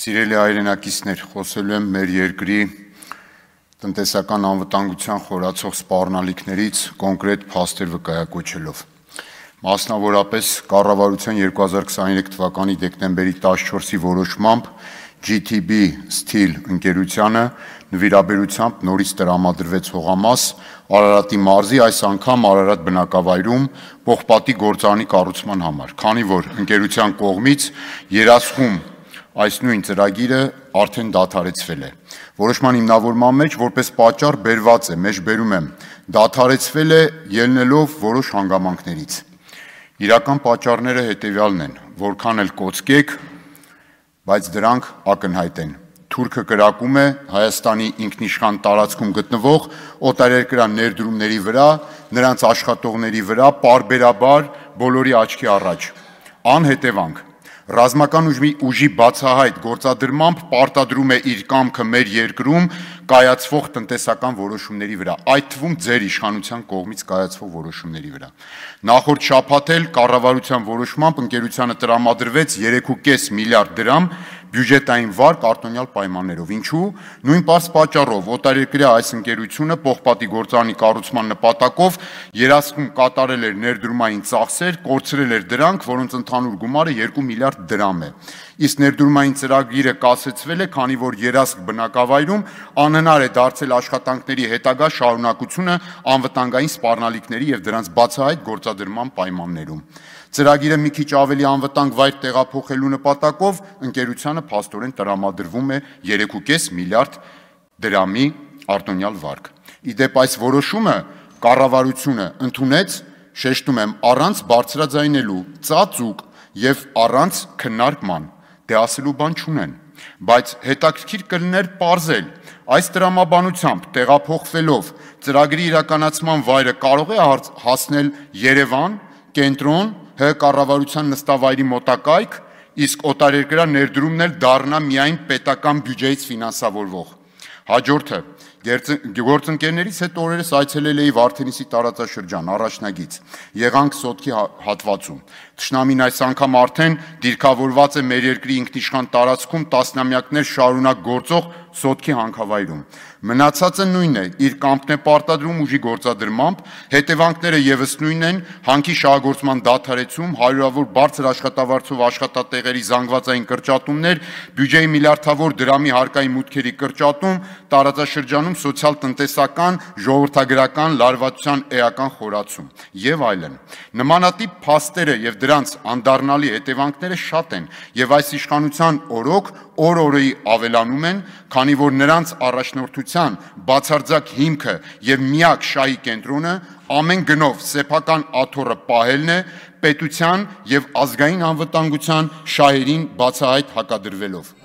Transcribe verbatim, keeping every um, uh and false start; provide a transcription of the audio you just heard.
Սիրելի հայրենակիցներ, խոսելու եմ մեր երկրի տնտեսական անվտանգության խորացող սպառնալիքներից կոնկրետ փաստեր վկայակոչելով։ Մասնավորապես կառավարության երկու հազար քսաներեք թվականի դեկտեմբերի տասնչորսի որոշմամբ G T B Steel ընկերությանը նվիրաբերությամբ նորից տրամադրվեց հողամաս Արարատի մարզի, այս անգամ Արարատ բնակավայրում պողպատի գործարանի կառուցման համար, քանի որ ընկերության կողմից երաշխում այս նույն ծրագիրը արդեն դադարեցվել է։ Որոշման հիմնավորման մեջ որպես պատճառ բերված է, մեջբերում եմ, դադարեցվել է ելնելով որոշ հանգամանքներից։ Իրական պատճառները հետևյալն են, որքան էլ կոծկեք, բայց դրանք ակնհայտ են։ Թուրքը կրակում է Հայաստանի ինքնիշխան տարածքում գտնվող օտարերկրյա ներդրումների վրա, նրանց աշխատողների վրա պարբերաբար բոլորի աչքի առաջ։ Անհետևանք Ռազմական ուժի բացահայտ գործադրմամբ պարտադրում է իր կամքը մեր երկրում կայացվող տնտեսական որոշումների վրա, այդ թվում ձեր իշխանության կողմից կայացվող որոշումների վրա։ Նախորդ շաբաթ էլ կառավարության որոշմամբ ընկերությանը տրամադրվեց երեք ու կես միլիարդ դրամ բյուջետային վարկ արտոնյալ պայմաններով։ Ինչու՞։ Նույն պարզ պատճառով օտարերկրյա այս ընկերությունը պողպատի գործարանի կառուցման նպատակով երաշխում կատարել էր ներդրումային ծախսեր, կորցրել էր դրանք, որոնց ընդհանուր գումարը երկու միլիարդ դրամ է։ Իսկ ներդրումային ծրագիրը կասեցվել է, քանի որ երաշխ բնակավայրում անհնար է դարձել աշխատանքների հետագա շարունակությունը անվտանգային սպառնալիքների եւ դրանց բացահայտ գործադրման պայմաններում։ Ծրագիրը մի քիչ ավելի անվտանգ վայր տեղափոխելու նպատակով ընկերությանը փաստորեն տրամադրվում է երեք ու կես միլիարդ դրամի արտոնյալ վարկ։ Իդեպ այս որոշումը կառավարությունը ընդունեց, շեշտում եմ, առանց բարձրաձայնելու, ծածուկ եւ առանց քննարկման, դե ասելու բան չունեն, բայց հետաքրքիր կլիներ պարզել, այս տրամաբանությամբ տեղափոխվելով ծրագրի իրականացման վայրը կարող է հասնել Երևան, կենտրոն, Հ կառավարության նստավայրի մոտակայք, իսկ օտարերկրյա ներդրումն էլ դառնա միայն պետական բյուջեից ֆինանսավորվող։ Հաջորդը գործընկերներից հետ օրերս այցելել էի Վարդենիսի տարածաշրջան, առաջնագիծ, եղանք Սոտքի հատվածում։ Թշնամին այս անգամ արդեն դիրքավորված է մեր երկրի ինքնիշխան տարածքում տասնամյակներ շարունակ գործող Սոտքի հանքավայրում։ Մնացածը նույնն է, իր կամքն է պարտադրում ուժի գործադրմամբ, հետևանքները եւս նույնն են, հանքի շահագործման դադարեցում, հարյուրավոր բարձր աշխատավարձով աշխատատեղերի զանգվածային կրճատումներ, բյուջեի միլիարդավոր դրամի հարկային մուտքերի կրճատում, տարածաշրջանում սոցիալ-տնտեսական, ժողովրդագրական լարվածության էական խորացում եւ այլն։ Նմանատիպ փաստերը եւ դրանց անդառնալի հետևանքները շատ են եւ այս իշխանության օրոք օր-օրի ավելանում են, քանի որ նրանց առաջնորդության բացարձակ հիմքը եւ միակ շահի կենտրոնը ամեն գնով սեփական աթոռը պահելն է, պետության եւ ազգային անվտանգության շահերին բացահայտ հակադրվելով։